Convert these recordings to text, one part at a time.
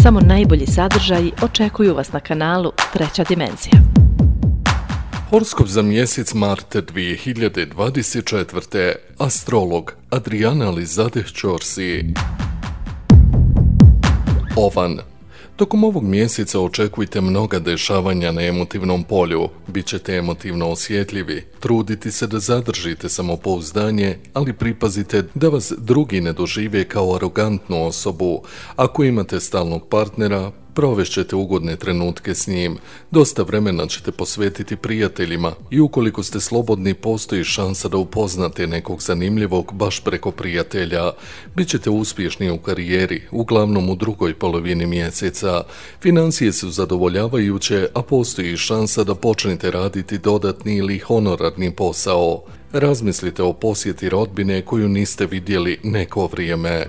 Samo najbolji sadržaji očekuju vas na kanalu Treća dimenzija. Horoskop za mjesec mart 2024. Astrolog Adriana Lizadeh Ćorsi. Ovan. Tokom ovog mjeseca očekujte mnoga dešavanja na emotivnom polju. Bićete emotivno osjetljivi. Trudite se da zadržite samopouzdanje, ali pripazite da vas drugi ne dožive kao arogantnu osobu. Ako imate stalnog partnera, provešćete ugodne trenutke s njim. Dosta vremena ćete posvetiti prijateljima i ukoliko ste slobodni, postoji šansa da upoznate nekog zanimljivog baš preko prijatelja. Bićete uspješni u karijeri, uglavnom u drugoj polovini mjeseca. Financije su zadovoljavajuće, a postoji šansa da počnete raditi dodatni ili honorarni posao. Razmislite o posjeti rodbine koju niste vidjeli neko vrijeme.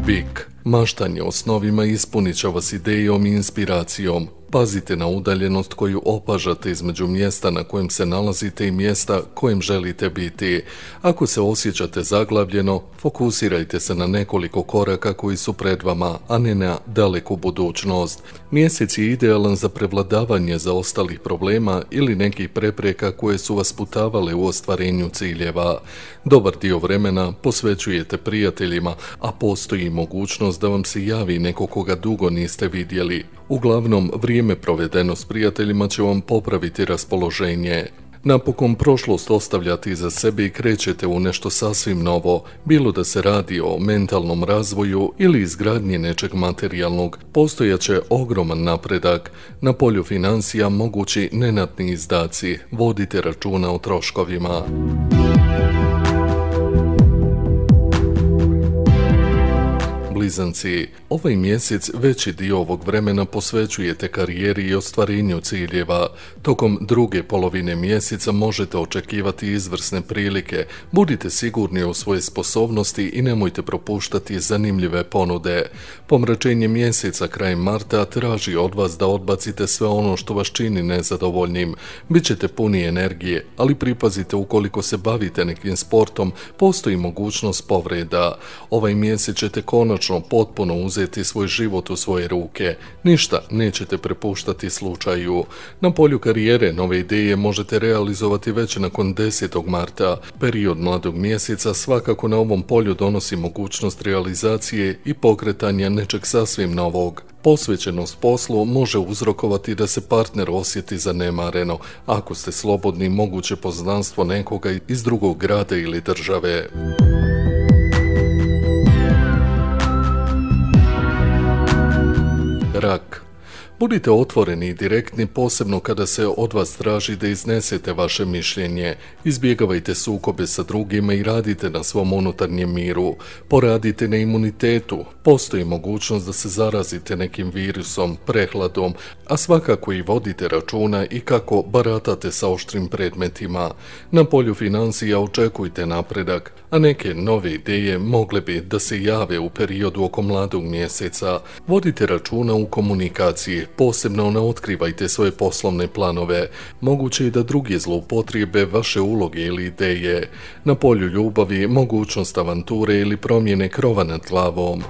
Bik. Maštanje o snovima ispunit će vas idejom i inspiracijom. Pazite na udaljenost koju opažate između mjesta na kojem se nalazite i mjesta kojem želite biti. Ako se osjećate zaglavljeno, fokusirajte se na nekoliko koraka koji su pred vama, a ne na daleku budućnost. Mjesec je idealan za prevladavanje zaostalih problema ili nekih prepreka koje su vas putavale u ostvarenju ciljeva. Dobar dio vremena posvećujete prijateljima, a postoji mogućnost da vam se javi neko koga dugo niste vidjeli. Uglavnom, vrijeme provedeno s prijateljima će vam popraviti raspoloženje. Napokon prošlost ostavljate iza sebe i krećete u nešto sasvim novo, bilo da se radi o mentalnom razvoju ili izgradnji nečeg materijalnog. Postojaće ogroman napredak. Na polju financija mogući nenatni izdaci. Vodite računa o troškovima. Blizanci, ovaj mjesec veći dio ovog vremena posvećujete karijeri i ostvarenju ciljeva. Tokom druge polovine mjeseca možete očekivati izvrsne prilike. Budite sigurni u svoje sposobnosti i nemojte propuštati zanimljive ponude. Pomračenje mjeseca krajem marta traži od vas da odbacite sve ono što vas čini nezadovoljnim. Bićete puni energije, ali pripazite ukoliko se bavite nekim sportom, postoji mogućnost povreda. Ovaj mjesec ćete konačno potpuno uzeti svoj život u svoje ruke. Ništa nećete prepuštati slučaju. Na polju karijere nove ideje možete realizovati već nakon 10. marta. Period mladog mjeseca svakako na ovom polju donosi mogućnost realizacije i pokretanja nečeg sasvim novog. Posvećenost poslu može uzrokovati da se partner osjeti zanemareno. Ako ste slobodni, moguće poznanstvo nekoga iz drugog grada ili države. Rak. Budite otvoreni i direktni, posebno kada se od vas traži da iznesete vaše mišljenje. Izbjegavajte sukobe sa drugima i radite na svom unutarnjem miru. Poradite na imunitetu. Postoji mogućnost da se zarazite nekim virusom, prehladom, a svakako i vodite računa i kako baratate sa oštrim predmetima. Na polju financija očekujte napredak, a neke nove ideje mogle bi da se jave u periodu oko mladog mjeseca. Vodite računa u komunikaciji. Posebno ne otkrivajte svoje poslovne planove. Moguće je da drugi zloupotrijebe vaše uloge ili ideje. Na polju ljubavi mogućnost avanture ili promjene krova nad glavom.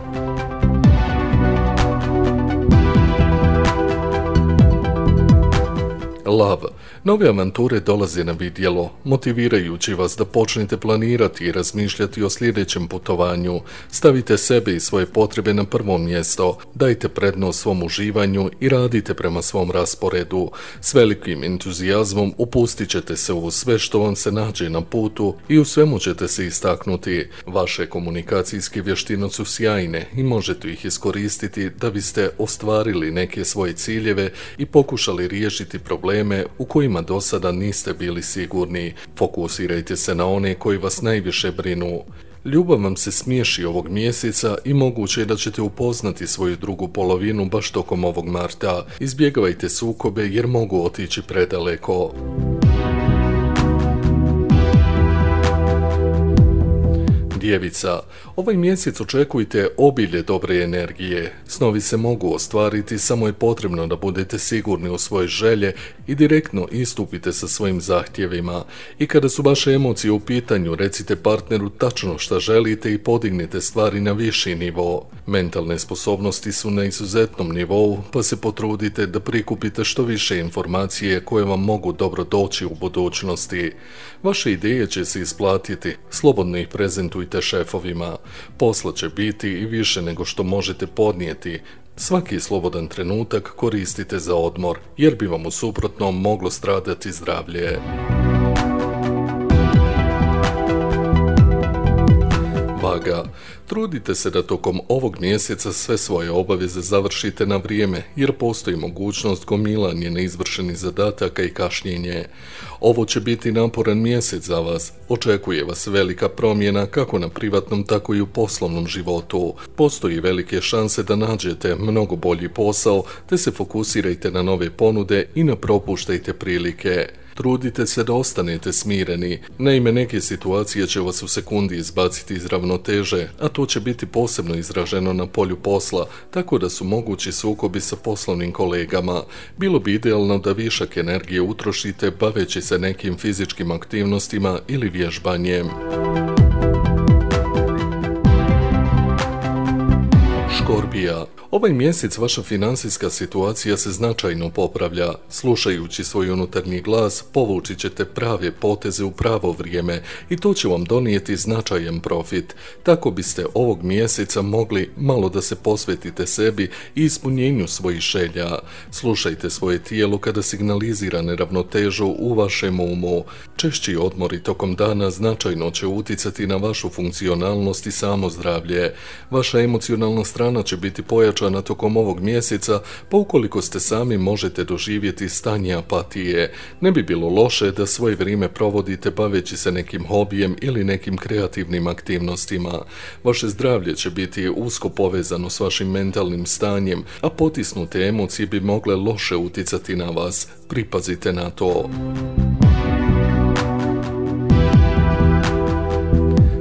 Lav. Nove avanture dolaze na vidjelo, motivirajući vas da počnete planirati i razmišljati o sljedećem putovanju. Stavite sebe i svoje potrebe na prvo mjesto, dajte prednost svom uživanju i radite prema svom rasporedu. S velikim entuzijazmom upustit ćete se u sve što vam se nađe na putu i u svemu ćete se istaknuti. Vaše komunikacijske vještine su sjajne i možete ih iskoristiti da biste ostvarili neke svoje ciljeve i pokušali riješiti probleme u kojima do sada niste bili sigurni. Fokusirajte se na one koji vas najviše brinu. Ljubav vam se smiješi ovog mjeseca i moguće je da ćete upoznati svoju drugu polovinu baš tokom ovog marta. Izbjegavajte sukobe jer mogu otići predaleko. Djevica, ovaj mjesec očekujte obilje dobre energije. Snovi se mogu ostvariti, samo je potrebno da budete sigurni u svoje želje i direktno istupite sa svojim zahtjevima. I kada su vaše emocije u pitanju, recite partneru tačno šta želite i podignite stvari na viši nivo. Mentalne sposobnosti su na izuzetnom nivou, pa se potrudite da prikupite što više informacije koje vam mogu dobro doći u budućnosti. Vaše ideje će se isplatiti, slobodno ih prezentujte šefovima. Posla će biti i više nego što možete podnijeti. Svaki slobodan trenutak koristite za odmor, jer bi vam u suprotnom moglo stradati zdravlje. Vaga, trudite se da tokom ovog mjeseca sve svoje obaveze završite na vrijeme, jer postoji mogućnost gomilanja neizvršenih zadataka i kašnjenje. Ovo će biti naporan mjesec za vas. Očekuje vas velika promjena kako na privatnom, tako i u poslovnom životu. Postoji velike šanse da nađete mnogo bolji posao, te se fokusirajte na nove ponude i ne propuštajte prilike. Trudite se da ostanete smireni, naime neke situacije će vas u sekundi izbaciti iz ravnoteže, a to će biti posebno izraženo na polju posla, tako da su mogući sukobi sa poslovnim kolegama. Bilo bi idealno da višak energije utrošite baveći se nekim fizičkim aktivnostima ili vježbanjem. Škorpija, ovaj mjesec vaša financijska situacija se značajno popravlja. Slušajući svoj unutarnji glas, povući ćete prave poteze u pravo vrijeme i to će vam donijeti značajan profit. Tako biste ovog mjeseca mogli malo da se posvetite sebi i ispunjenju svojih želja. Slušajte svoje tijelo kada signalizira neravnotežu u vašem umu. Češći odmori tokom dana značajno će uticati na vašu funkcionalnost i samozdravlje. Vaša emocionalna strana će biti pojačana tokom ovog mjeseca, pa ukoliko ste sami možete doživjeti stanje apatije. Ne bi bilo loše da svoje vrijeme provodite baveći se nekim hobijem ili nekim kreativnim aktivnostima. Vaše zdravlje će biti usko povezano s vašim mentalnim stanjem, a potisnute emocije bi mogle loše uticati na vas. Pripazite na to.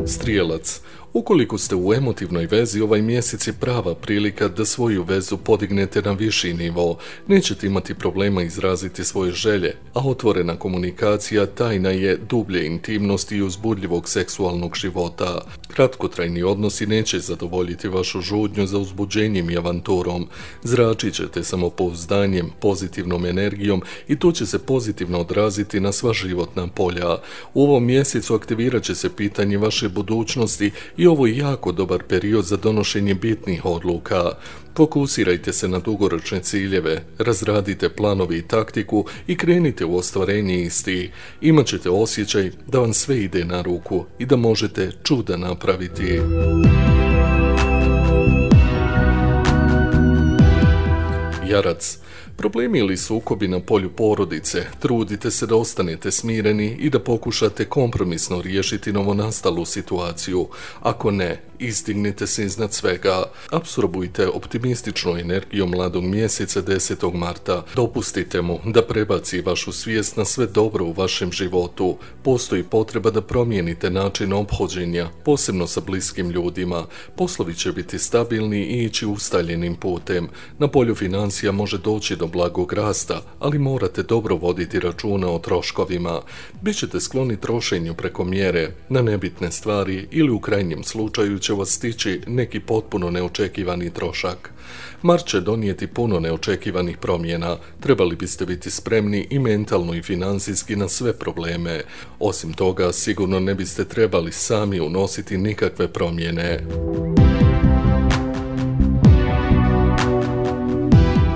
Strijelac, ukoliko ste u emotivnoj vezi, ovaj mjesec je prava prilika da svoju vezu podignete na viši nivo. Nećete imati problema izraziti svoje želje, a otvorena komunikacija tajna je dublje intimnosti i uzbudljivog seksualnog života. Kratkotrajni odnosi neće zadovoljiti vašu žudnju za uzbuđenjem i avanturom. Zračit ćete samopouzdanjem, pozitivnom energijom i to će se pozitivno odraziti na sva životna polja. U ovom mjesecu aktivirat će se pitanje vaše budućnosti i ovo je jako dobar period za donošenje bitnih odluka. Fokusirajte se na dugoročne ciljeve, razradite planovi i taktiku i krenite u ostvarenje istih. Imaćete osjećaj da vam sve ide na ruku i da možete čuda napraviti. Jarac, problemi ili sukobi na polju porodice, trudite se da ostanete smireni i da pokušate kompromisno riješiti novonastalu situaciju. Ako ne, izdignite se iznad svega. Apsorbujte optimističnu energiju mladog mjeseca 10. marta. Dopustite mu da prebaci vašu svijest na sve dobro u vašem životu. Postoji potreba da promijenite način ophođenja, posebno sa bliskim ljudima. Poslovi će biti stabilni i ići ustaljenim putem. Na polju financija može doći do blagog rasta, ali morate dobro voditi računa o troškovima. Bićete skloni trošenju preko mjere na nebitne stvari ili u krajnjem slučaju će vas stići neki potpuno neočekivani trošak. Mars će donijeti puno neočekivanih promjena. Trebali biste biti spremni i mentalno i financijski na sve probleme. Osim toga, sigurno ne biste trebali sami unositi nikakve promjene.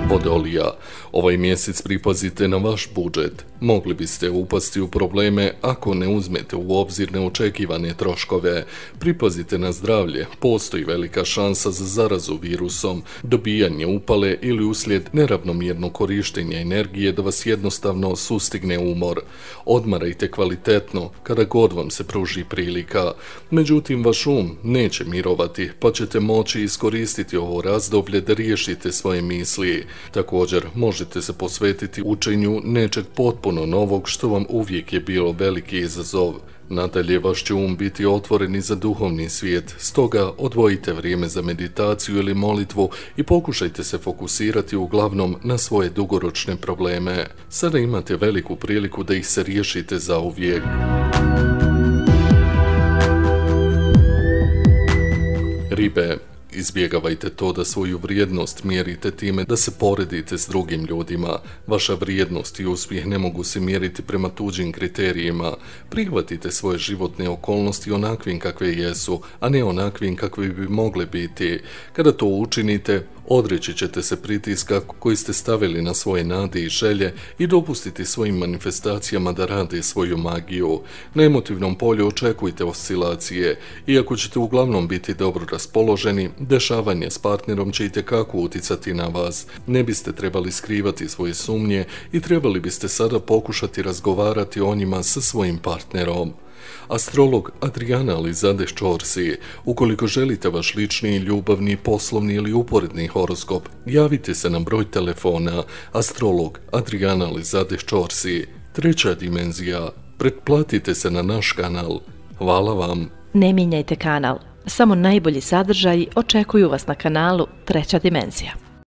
Vodolija, ovaj mjesec pripazite na vaš budžet. Mogli biste upasti u probleme ako ne uzmete u obzir neočekivane troškove. Pripazite na zdravlje, postoji velika šansa za zarazu virusom, dobijanje upale ili uslijed neravnomjernog korištenja energije da vas jednostavno sustigne umor. Odmarajte kvalitetno kada god vam se pruži prilika. Međutim, vaš um neće mirovati, pa ćete moći iskoristiti ovo razdoblje da riješite svoje misli. Također, možete se posvetiti učenju nečeg potpuno novog što vam uvijek je bilo veliki izazov. Nadalje, vaš će biti otvoren i za duhovni svijet, stoga odvojite vrijeme za meditaciju ili molitvu i pokušajte se fokusirati uglavnom na svoje dugoročne probleme. Sada imate veliku priliku da ih se riješite zauvijek. Ribe, izbjegavajte to da svoju vrijednost mjerite time da se poredite s drugim ljudima. Vaša vrijednost i uspjeh ne mogu se mjeriti prema tuđim kriterijima. Prihvatite svoje životne okolnosti onakvim kakve jesu, a ne onakvim kakve bi mogle biti. Kada to učinite, odreći ćete se pritiska koji ste stavili na svoje nade i želje i dopustiti svojim manifestacijama da rade svoju magiju. Na emotivnom polju očekujte oscilacije. Iako ćete uglavnom biti dobro raspoloženi, dešavanje s partnerom će itekako uticati na vas. Ne biste trebali skrivati svoje sumnje i trebali biste sada pokušati razgovarati o njima sa svojim partnerom. Astrolog Adriana Alizadeh Chorsi. Ukoliko želite vaš lični, ljubavni, poslovni ili uporedni horoskop, javite se na broj telefona Astrolog Adriana Alizadeh Chorsi. 3. dimenzija. Pretplatite se na naš kanal. Hvala vam. Ne mijenjajte kanal. Samo najbolji sadržaji očekuju vas na kanalu 3. dimenzija.